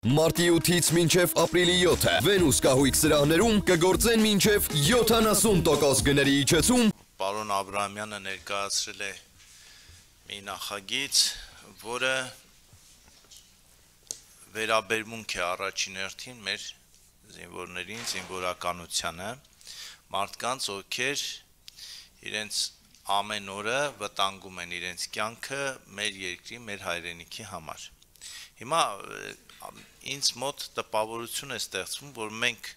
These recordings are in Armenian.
Մարտի 8-ից մինչև ապրիլի 7-ը Վենուս կահույք սրահներում կգործեն մինչև 70% գների իջեցում։ Պարոն Աբրահամյանը ներկայացրել է մի նախագիծ, որը վերաբերմունք է առաջին հերթին մեր զինվորներին, զինվորականությանը, մարդկանց, ովքեր իրենց ամեն օրը վտանգում են իրենց կյանքը մեր երկրի, մեր հայրենիքի համար։ Հիմա ինձ մոտ տպավորություն է ստեղծվում, որ մենք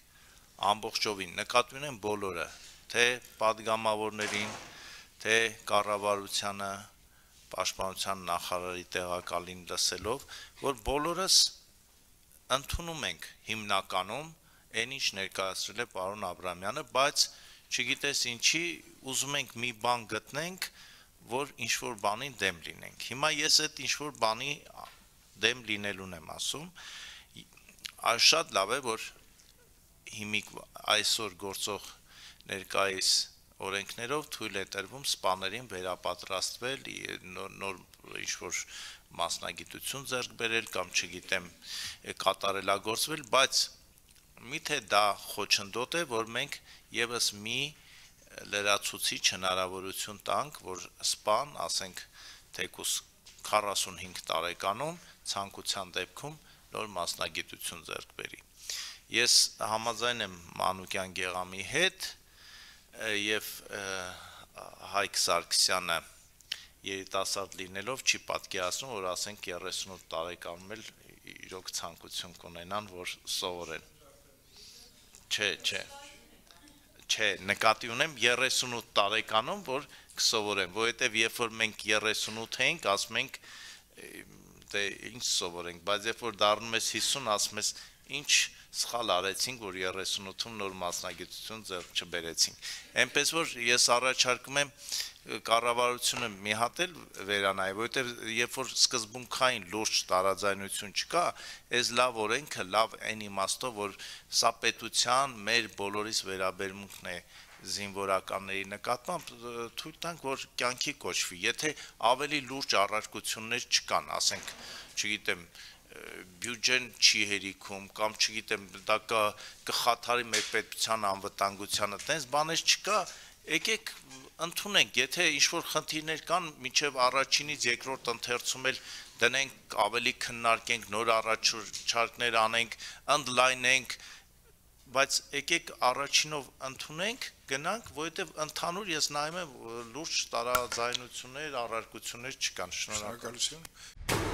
ամբողջովին նկատի ունենք բոլորը, թե պատգամավորներին, թե կառավարությանը, պաշտպանության նախարարի տեղակալին լսելով, որ բոլորս ընդունում ենք հիմնականում այն ինչ ներկայացրել է պարոն Աբրահամյանը, բայց չգիտես ինչի ուզում ենք մի բան գտնենք, որ ինչ-որ բանի դեմ լինենք։ Հիմա ես այդ ինչ-որ բանի դեմ լինելուն եմ ասում, շատ լավ է, որ հիմիկ այսօր գործող ներկայիս օրենքներով թույլ է տրվում սպաներին վերապատրաստվել, նոր ինչ-որ մասնագիտություն ձեռք բերել կամ չգիտեմ կատարելագործվել, բայց միթե դա խոչընդոտ է, որ մենք եւս մի լրացուցիչ հնարավորություն տանք, որ սպան, ասենք թեկուս 45 տարեկանում ցանկության դեպքում նոր մասնագիտություն ձեռք բերի։ Ես համաձայն եմ Մանուկյան Գեղամի հետ եւ Հայկ Սարգսյանը երիտասարդ լինելով չի պատկերացնում, որ ասենք 38 տարեկանում էլ իրոք ցանկություն կունենան, որ սովորեն։ Չէ, նկատի ունեմ 38 տարեկանում, որ կսովորեն, որովհետեւ երբ որ մենք 38 ենք, ասում ենք դե ինչ սովորենք, բայց երբ որ դառնում ես 50, ասում ես ինչ սխալ արեցինք, որ 38-ում նոր մասնագիտություն ձեռք չբերեցինք։ Էնպես որ ես առաջարկում եմ կառավարությունը մի հատ էլ վերանայի, որովհետև երբ որ սկզբունքային լուրջ տարաձայնություն չկա, այս լավ օրենքը, լավ այն իմաստով, որ սա պետության մեր բոլորիս վերաբերմունքն է զինվորականների նկատմամբ, թույլ տանք, որ կյանքի կոչվի, եթե ավելի լուրջ առարկություններ չկան, ասենք, չգիտեմ, բյուջեն չի հերիքում, կամ չգիտեմ, դա կխաթարի մեր պետության անվտանգությանը, տենց բաներ չկա, եկեք ընդունենք, եթե ինչ-որ խնդիրներ կան, մինչև առաջինից երկրորդ ընթերցում էլ դնենք, ավելի քննարկենք, նոր առաջարկներ անենք, ընդլայնենք, բայց եկեք առաջինով ընդունենք, գնանք, որովհետև ընդհանուր ես նայում եմ լուրջ տարաձայնություններ, առարկություններ չկան, շնորհակալություն։